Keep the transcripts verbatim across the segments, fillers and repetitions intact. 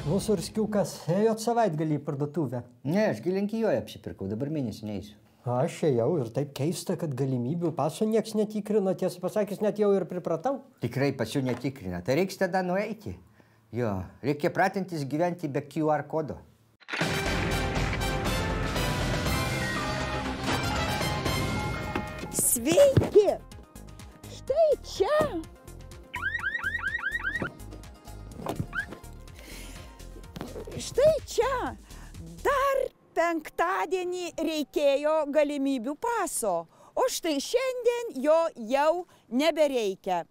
Mūsų Urskiukas, ėjot savaitgalį į parduotuvę? Ne, aš Lenkijoje apsipirkau, dabar mėnesį neįsiu. Aš ėjau ir taip keista, kad galimybių paso nieks netikrino, tiesą pasakys, net jau ir pripratau. Tikrai pasų netikrina, tai reiks tada nueiti. Jo, reikia pratintis gyventi be Q R kodo. Sveiki! Štai čia! Štai čia! Dar penktadienį reikėjo galimybių paso, o štai šiandien jo jau nebereikia.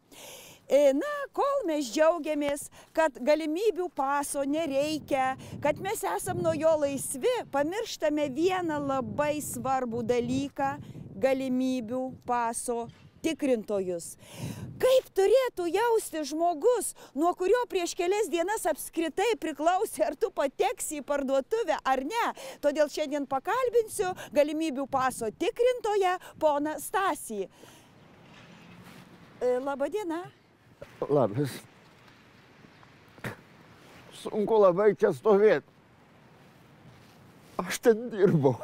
Na, kol mes džiaugiamės, kad galimybių paso nereikia, kad mes esam nuo jo laisvi, pamirštame vieną labai svarbų dalyką – galimybių paso tikrintojus. Kaip turėtų jausti žmogus, nuo kurio prieš kelias dienas apskritai priklausė, ar tu pateksi į parduotuvę ar ne. Todėl šiandien pakalbinsiu galimybių paso tikrintoją, poną Stasį. Labą dieną. Labas. Sunku labai čia stovėti. Aš ten dirbau.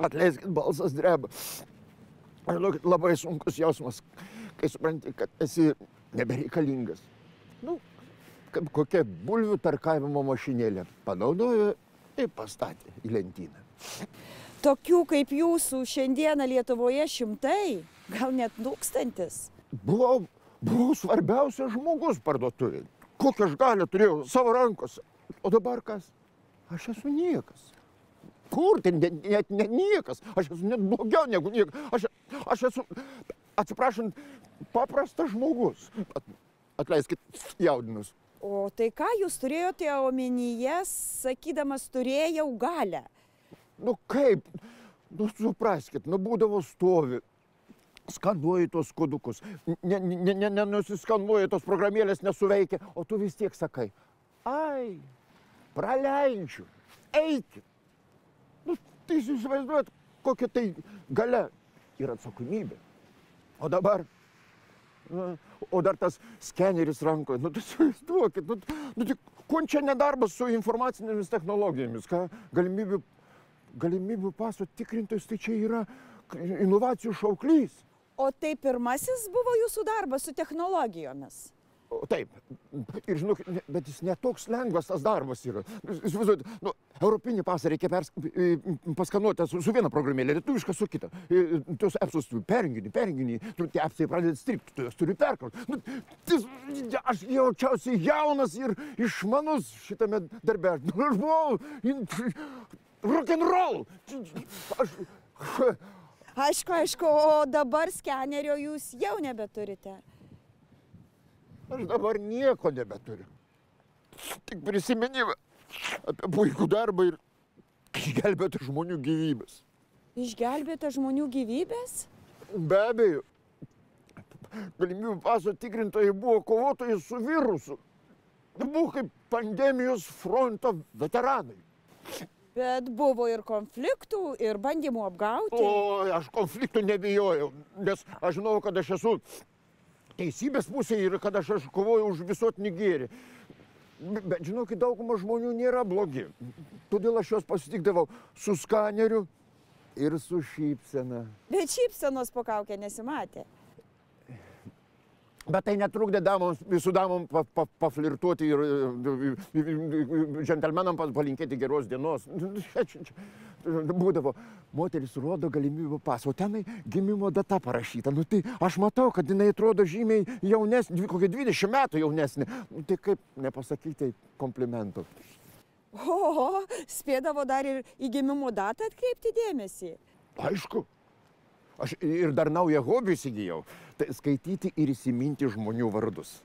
Atleiskit, balsas dreba. Žinokit, labai sunkus jausmas, kai supranti, kad esi nebereikalingas. Nu, kaip kokia bulvių tarkavimo mašinėlė. Panaudojo ir pastatė į lentyną. Tokių kaip jūsų šiandieną Lietuvoje šimtai, gal net tūkstantis. Buvau, buvau svarbiausias žmogus parduotuvėje. Kokią aš galią turėjau savo rankose. O dabar kas? Aš esu niekas. Kur? Tai net ne, ne, niekas. Aš esu net blogiau negu niekas. Aš, aš esu, atsiprašant, paprastas žmogus. At, atleiskit, jaudinus. O tai ką jūs turėjote omenyje, sakydamas, turėjau galią? Nu kaip? Nu supraskit, nu būdavo stovi. Skanuoji tos kodukus. Nenusiskanuoji, tos programėlės nesuveikia. O tu vis tiek sakai, ai, praleidžiu, eikit. Nu, tai jūs įsivaizduojat, kokia tai galia ir atsakomybė. O dabar, nu, o dar tas skeneris rankoje, nu tai įsivaizduokit, nu, nu tai ko čia nedarbas su informacinėmis technologijomis, ką galimybių, galimybių paso tikrintojus, tai čia yra inovacijų šauklys. O tai pirmasis buvo jūsų darbas su technologijomis? O taip, ir žinok, bet jis netoks lengvas tas darbas yra. Įsivaizduojat, nu, europinį pasą reikia pers, paskanuoti su, su viena programėlė, lietuvišką su kita. Tuos appsus turi perjunginį, perjunginį, tie appsai pradeda stripti, tu juos turi perkrauti. Nu, tis, aš jaučiausiai jaunas ir išmanus šitame darbe. Aš buvau rock'n'roll. Aš... Aišku, aišku, o dabar skenerio jūs jau nebeturite. Aš dabar nieko nebeturiu. Tik prisiminimą apie puikų darbą ir išgelbėti žmonių gyvybės. Išgelbėti žmonių gyvybės? Be abejo. Galimybių paso tikrintojai buvo kovotojai su virusu. Buvo kaip pandemijos fronto veteranai. Bet buvo ir konfliktų, ir bandymų apgauti. O, aš konfliktų nebijojau, nes aš žinau, kad aš esu teisybės pusėje ir kad aš, aš kovoju už visuotinį gėrį. Bet žinokit, dauguma žmonių nėra blogi. Todėl aš juos pasitikdavau su skaneriu ir su šypsena. Bet šypsenos po kaukę nesimatė. Bet tai netrukdė damoms, visų damom pa, pa, paflirtuoti ir džentelmenam palinkėti geros dienos. Būdavo, moteris rodo galimybių pasą, o tenai gimimo data parašyta. Nu, tai aš matau, kad jinai atrodo žymiai jaunesnė, kokie dvidešimt metų jaunesnė. Nu, tai kaip nepasakyti komplimentų. O, spėdavo dar ir į gimimo datą atkreipti dėmesį. Aišku. Aš ir dar naują hobį įsigijau. Tai skaityti ir įsiminti žmonių vardus.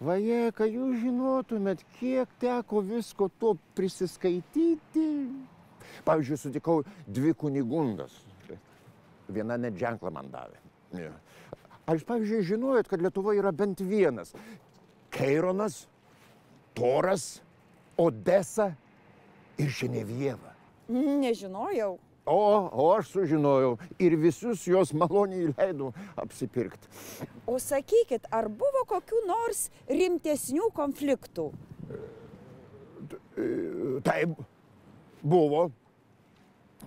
Vaje, kai jūs žinotumėt, kiek teko visko to prisiskaityti. Pavyzdžiui, sutikau dvi kunigundas. Viena net ženklą man davė. Aš, pavyzdžiui, žinojot, kad Lietuvoje yra bent vienas. Keironas, Toras, Odesa ir Ženevieva. Nežinojau. O, o aš sužinojau ir visus jos maloniai leidau apsipirkti. O sakykit, ar buvo kokių nors rimtesnių konfliktų? Taip, buvo.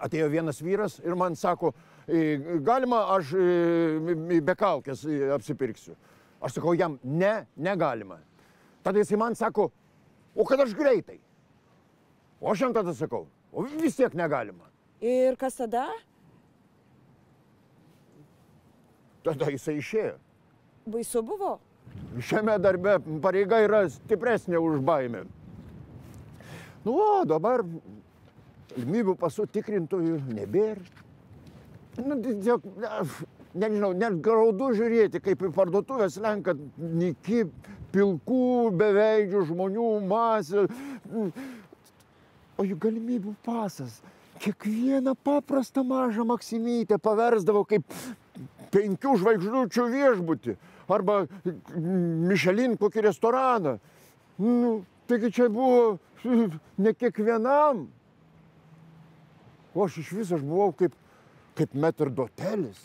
Atėjo vienas vyras ir man sako, galima aš be kaukės apsipirksiu. Aš sakau jam, ne, negalima. Tada jisai man sako, o kad aš greitai. O aš jam tada sakau, o vis tiek negalima. Ir kas tada? Tada jisai išėjo. Baisu buvo? Šiame darbe pareiga yra stipresnė už baimę. Nu, o dabar galimybių pasų tikrintojų nebėra. Nu, tiesiog, nežinau, net graudu žiūrėti, kaip į parduotuvės lenka nyki, pilkų, beveidžių žmonių masė. O jų galimybių pasas kiekvieną paprastą mažą maksimytę paversdavo kaip penkių žvaigždučių viešbutį arba Michelin kokį restoraną. Nu, taigi čia buvo ne kiekvienam. O aš iš viso aš buvau kaip, kaip metrdotelis.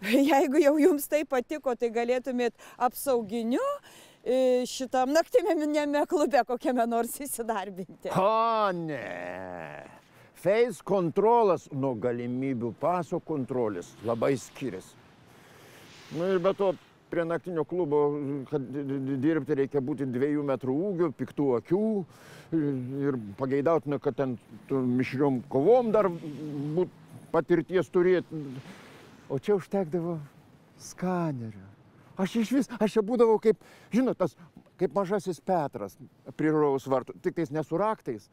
Jeigu jau jums tai patiko, tai galėtumėt apsauginiu šitam naktinėme klube kokiame nors įsidarbinti. O, ne. Face kontrolas nuo galimybių paso kontrolės labai skiriasi. Nu ir be to, prie naktinio klubo, kad dirbti reikia būti dviejų metrų ūgio, piktų akių ir pageidautina, kad ten mišriom kovom dar būt patirties turėti. O čia užtekdavo skanerio. Aš iš vis, aš čia būdavau kaip, žinot, tas, kaip mažasis Petras prie rojaus vartų, tik tais ne su raktais,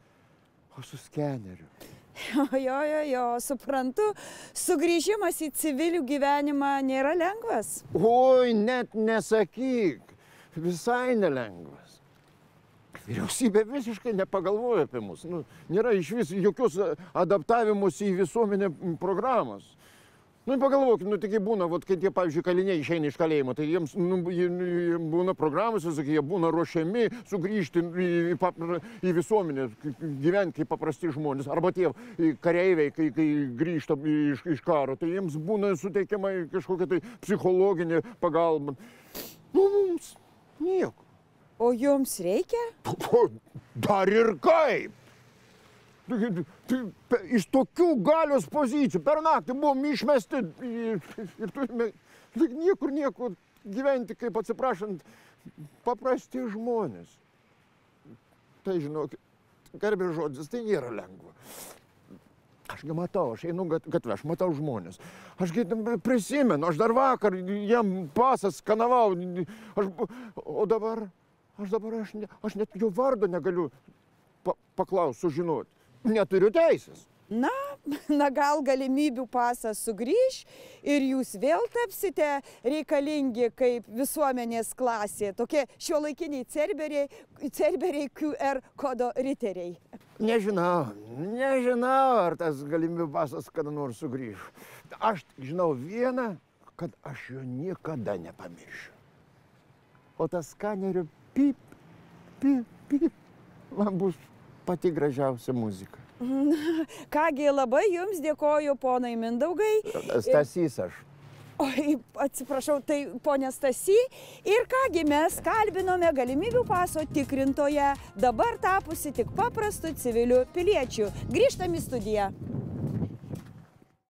o su skeneriu. Jo, jo, jo, jo, suprantu, sugrįžimas į civilių gyvenimą nėra lengvas. Oi, net nesakyk, visai nelengvas. Vyriausybė visiškai nepagalvoja apie mus. Nu, nėra iš vis jokios adaptavimus į visuomenę programos. Nu, pagalvokit, nu, tik būna, vat, kai tie, pavyzdžiui, kaliniai išeina iš kalėjimo, tai jiems nu, jie būna programos, jie būna ruošiami sugrįžti į, į, į visuomenę, gyventi kaip paprasti žmonės. Arba tie kareiviai, kai, kai grįžta iš, iš karo, tai jiems būna suteikiama kažkokia tai psichologinė pagalba. Nu, mums nieko. O jums reikia? Dar ir kaip! Iš tokių galios pozicijų per naktį buvom išmesti ir, ir turime niekur nieko gyventi, kaip atsiprašant, paprasti žmonės. Tai žinok, garbės žodis, tai nėra lengva. Ašgi matau, aš einu gatvę, aš matau žmonės. Ašgi prisimenu, aš dar vakar jam pasas skanavau, aš, o dabar, aš dabar, aš, ne, aš net jo vardo negaliu pa, paklaus, sužinoti. Neturiu teisės. Na, na gal galimybių pasas sugrįž ir jūs vėl tapsite reikalingi kaip visuomenės klasė, tokie šiuolaikiniai cerberiai, cerberiai Q R kodo riteriai. Nežinau, nežinau, ar tas galimybių pasas kada nors sugrįž. Aš žinau vieną, kad aš jo niekada nepamiršiu. O tas skanerio pip, pip, pip, man bus pati gražiausia muzika. Kągi, labai jums dėkoju, ponai Mindaugai. Stasys aš. Oi, atsiprašau, tai ponė Stasy. Ir kągi, mes kalbinome galimybių paso tikrintoje, dabar tapusi tik paprastu civiliu piliečiu. Grįžtam į studiją.